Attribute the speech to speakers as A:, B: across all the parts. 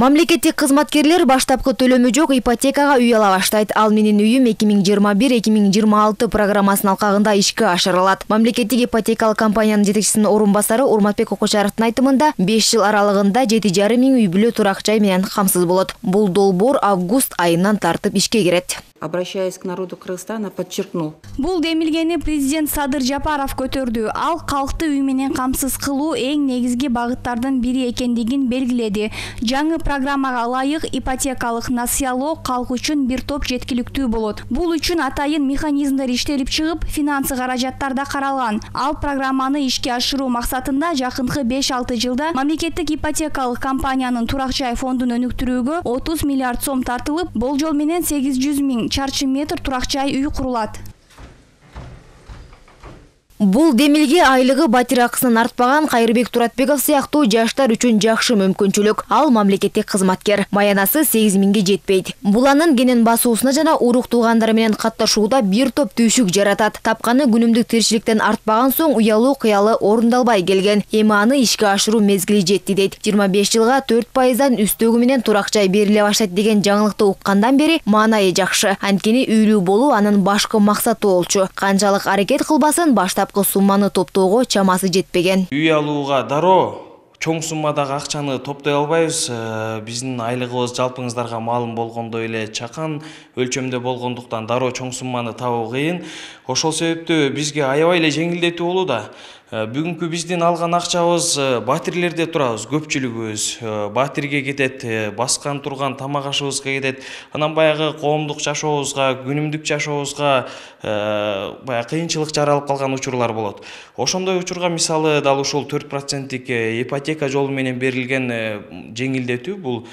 A: Мамлекеттик кызматкерлер баштапкы төлөмү жок ипотекага үй ала баштайт. Ал менин үйүм 2021-2026 программасынын алкагында ишке ашырылат. Мамлекеттик ипотекалык компаниянын жетекчисинин орун басары Урматбек Окочаровдун айтымында 5 жыл аралыгында 7,5 миң үй бүлө турак жай менен камсыз болот. Бул долбоор август айынан тартып ишке кирет.
B: Обращаясь к народу Кыргызстана, подчеркнул.
C: Бул демилгени президент Садыр Жапаров көтөрдү. Ал калкты үй менен камсыз кылуу эң негизги багыттардын бири экендигин белгиледи. Жаңы программага ылайык ипотекалык насыялоо калк үчүн бир топ жеткиликтүү болот. Бул үчүн атайын механизмдер иштелип чыгып, финансы каражаттар да каралган. Ал программаны ишке ашыруу максатында жакынкы 5-6 жылда мамлекеттик ипотекалык компаниянын турак жай фондун өнүктүрүүгө 30 миллиард сом тартылып, болжол менен 800 миң чарчы метр турак жай үй курулат.
A: Бул демилге айлыгы батир акысынан артпаган Кайырбек Туратбеков сыяктуу жаштар үчүн жакшы мүмкүнчүлүк. Ал мамлекеттик кызматкер. Маянасы 8 миңге жетпейт. Бул анын кенен басуусуна жана урук туугандары менен катташууда бир топ түйшүк жаратат. Тапканы күнүмдүк тиричиликтен артпаган соң уялуу кыялы орундалбай келген. Эми аны ишке ашыруу мезгили жетти дейт. 25 жылга 4%дан үстөгү менен турак жай бериле баштайт деген жаңылыкты уккандан бери маанайы жакшы. Анткени үйлүү болуу анын башкы максаты болчу. Канчалык аракет кылбасын баштап сумманы топтоого чамасы жетпеген.
D: Үй алууга дароо чоң суммадагы акчаны топтой албайбыз. Биздин айлыгыбыз жалпыңыздарга маалым болгондой эле чакан өлчөмдө болгондуктан дароо чоң сумманы табуу кыйын. Ошол себептүү бизге аябай эле жеңилдетүү болууда. Бүгүнкү биздин алган акчабыз батирлерде турабыз, көпчүлүгүбүз батирге кетет, баскан турган тамак ашыбызга кетет. Анан баягы коомдук жашообузга, күнүмдүк жашообузга баягы кыйынчылык жаралып калган учурлар болот. Ошондой учурга мисалы дал ушул 4%тик ипотека жолу менен берилген жеңилдетүү бул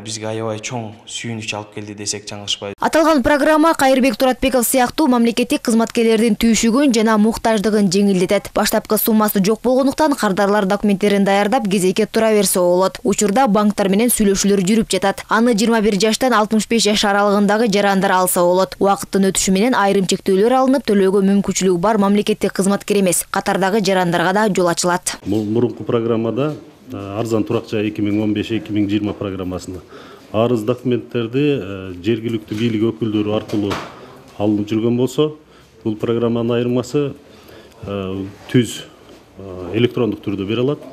D: бизге аябай чоң сүйүнүч алып келди десек жаңылышпайбыз.
A: Аталган программа Кайырбек Туратбеков сыяктуу мамлекеттик кызматкерлердин түйшүгүн жана муктаждыгын жеңилдетет. Баштапкы суммасы жок болгондуктан кардарлар документтерин даярдап кезекке тура берсе болот. Учурда банктар менен сүйлөшүүлөр жүрүп жатат. Аны 21 жаштан 65 жаш аралыгындагы жарандар алса болот. Убакыттын өтүшү менен айрым чектөөлөр алынып, төлөөгө мүмкүнчүлүгү бар мамлекеттик кызматкер эмес катардагы жарандарга да жол ачылат.
E: Мурунку программада арзан турак жай 2015-2020 программасында арыз документтерди жергиликтүү бийлик өкүлдөрү аркылуу алынып жүргөн болсо, бул программанын айырмасы түз электрондук түрдө бере алат.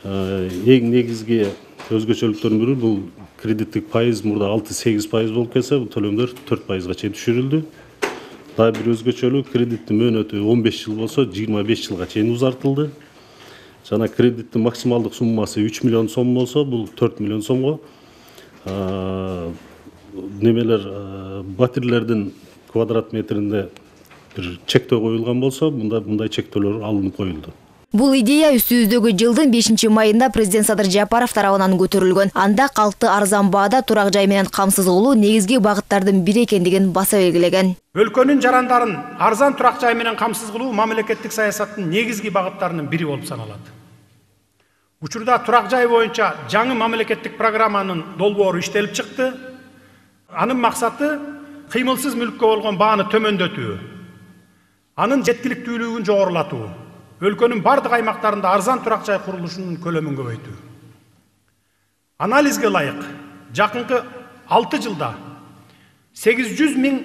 E: Эң негизги өзгөчөлүктөрдүн бири бул кредиттик пайыз мурда 6-8% болуп келсе, бул төлөмдөр 4%га чейин түшүрүлдү. Дагы бир өзгөчөлүк кредиттин мөөнөтү 15 жыл болсо 25 жылга чейин узартылды. Жана кредиттин максималдык суммасы 3 миллион сом болсо, бул 4 миллион сомго. Немелер батирлердин квадрат метринде бир чектөө коюлган болсо, мындай чектөөлөр алынып коюлду.
A: Бул идея үстүбүздөгү жылдын 5-майында президент Садыр Жапаров тарабынан көтөрүлгөн. Анда калкты арзан баада турак жай менен камсыз кылуу негизги багыттардын бири экендигин баса белгилеген.
F: Өлкөнүн жарандарын арзан турак жай менен камсыз кылуу мамлекеттик саясаттын негизги багыттарынын бири болуп саналат. Учурда турак жай боюнча жаңы мамлекеттик программанын долбоору иштелип чыкты. Анын максаты кыймылсыз мүлккө болгон бааны төмөндөтүү, анын жеткиликтүүлүгүн жогорулатуу, өлкөнүн бардык аймактарында арзан турак жай курулушунун көлөмүн көбөйтүү. Анализге ылайык, жакынкы 6 жылда 800 миң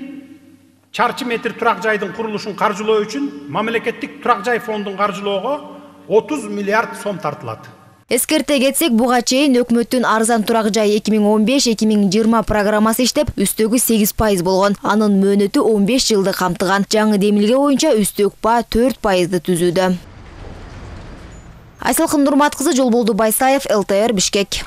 F: чарчы метр турак жайдын курулушун каржылоо үчүн мамлекеттик турак жай фондун каржылоого 30 миллиард сом тартылат.
A: Эскерте кетсек, буга чейин өкмөттүн арзан турак жай 2015-2020 программасы иштеп, үстөгү 8% болгон. Анын мөөнөтү 15 жылды камтыган. Жаңы демилге боюнча үстөк ба 4%ды түзүүдө. Айсалкын Нурмат кызы, Жолболду Байсаев, ЛТР, Бишкек.